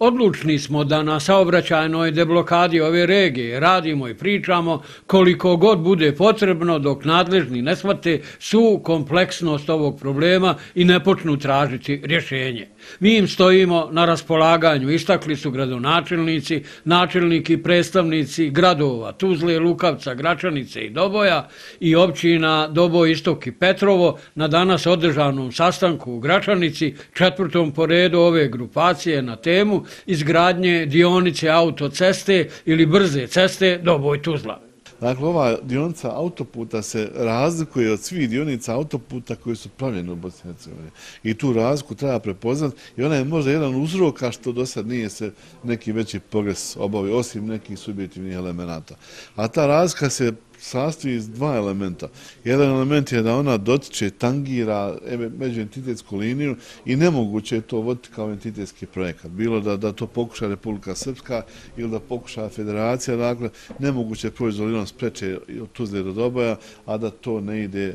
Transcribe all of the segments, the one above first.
Odlučni smo da na saobraćajnoj deblokadi ove regije radimo i pričamo koliko god bude potrebno dok nadležni ne shvate svu kompleksnost ovog problema i ne počnu tražiti rješenje. Mi im stojimo na raspolaganju, istakli su gradonačelnici, načelnici i predstavnici gradova Tuzle, Lukavca, Gračanice i Doboja i općina Doboj, Istok i Petrovo na danas održanom sastanku u Gračanici, 4. po redu ove grupacije na temu izgradnje dionice autoceste ili brze ceste Doboj-Tuzla. Dakle, ova dionica autoputa se razlikuje od svih dionica autoputa koji su pravljeni u Bosni i Hercegovini. I tu razliku treba prepoznati i ona je možda jedan uzroka što do sad nije se neki veći progres obavio, osim nekih subjektivnih elemenata. A ta razlika se sastoji iz dva elementa. Jedan element je da ona dotiče, tangira međuentitetsku liniju i nemoguće je to voditi kao entitetski projekat. Bilo da to pokuša Republika Srpska ili da pokuša Federacija, dakle, nemoguće je proizvolinom spreče od Tuzle do Doboja, a da to ne ide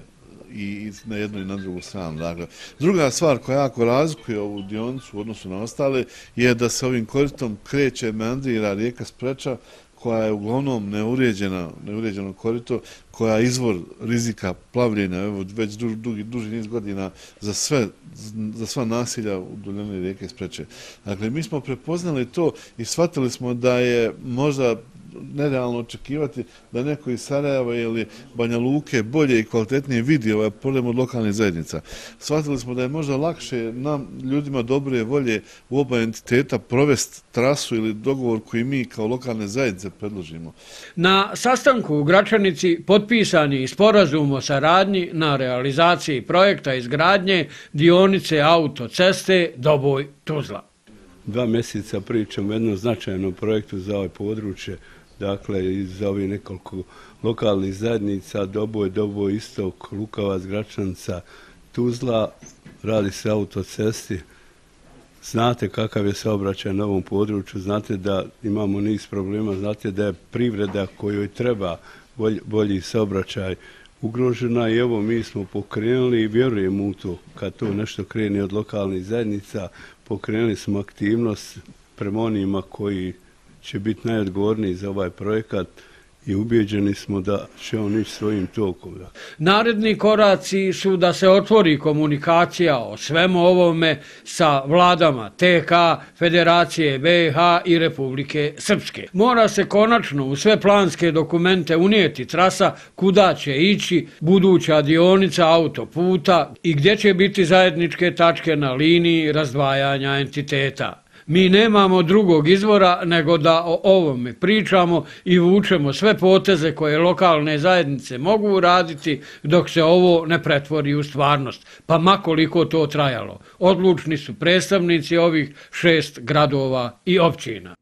i na jednu i na drugu stranu. Dakle, druga stvar koja jako razlikuje ovu dionicu u odnosu na ostale je da se ovim koridom kreće, meandrira rijeka Spreča, koja je uglavnom neuređeno korito, koja je izvor rizika plavljenja već duži niz godina za sva nasilja u duljini rijeke Spreče. Dakle, mi smo prepoznali to i shvatili smo da je možda nerealno očekivati da neko iz Sarajeva ili Banja Luke bolje i kvalitetnije vidi ovaj problem od lokalnih zajednica. Shvatili smo da je možda lakše nam, ljudima dobre volje u oba entiteta, provesti trasu ili dogovor koji mi kao lokalne zajednice predložimo. Na sastanku u Gračanici potpisan je sporazum o saradnji na realizaciji projekta izgradnje dionice autoceste Doboj-Tuzla. 2 mjeseca pričamo o jednom značajnom projektu za ovo područje, dakle iz ovih nekoliko lokalnih zajednica, Doboj, Istok, Lukavac, Gračanica, Tuzla, radi se autocesti. Znate kakav je saobraćaj na ovom području, znate da imamo niz problema, znate da je privreda kojoj treba bolji saobraćaj ugrožena i evo mi smo pokrenuli i vjerujemo u to kad to nešto krene od lokalnih zajednica, pokrenuli smo aktivnost prema onima koji će biti najodgovorniji za ovaj projekat i ubijeđeni smo da će on ići svojim tokom. Naredni koraci su da se otvori komunikacija o svemu ovome sa vladama TK, Federacije BiH i Republike Srpske. Mora se konačno u sve planske dokumente unijeti trasa kuda će ići buduća dionica autoputa i gdje će biti zajedničke tačke na liniji razdvajanja entiteta. Mi nemamo drugog izvora nego da o ovome pričamo i vučemo sve poteze koje lokalne zajednice mogu uraditi dok se ovo ne pretvori u stvarnost, pa makoliko to trajalo. Odlučni su predstavnici ovih 6 gradova i općina.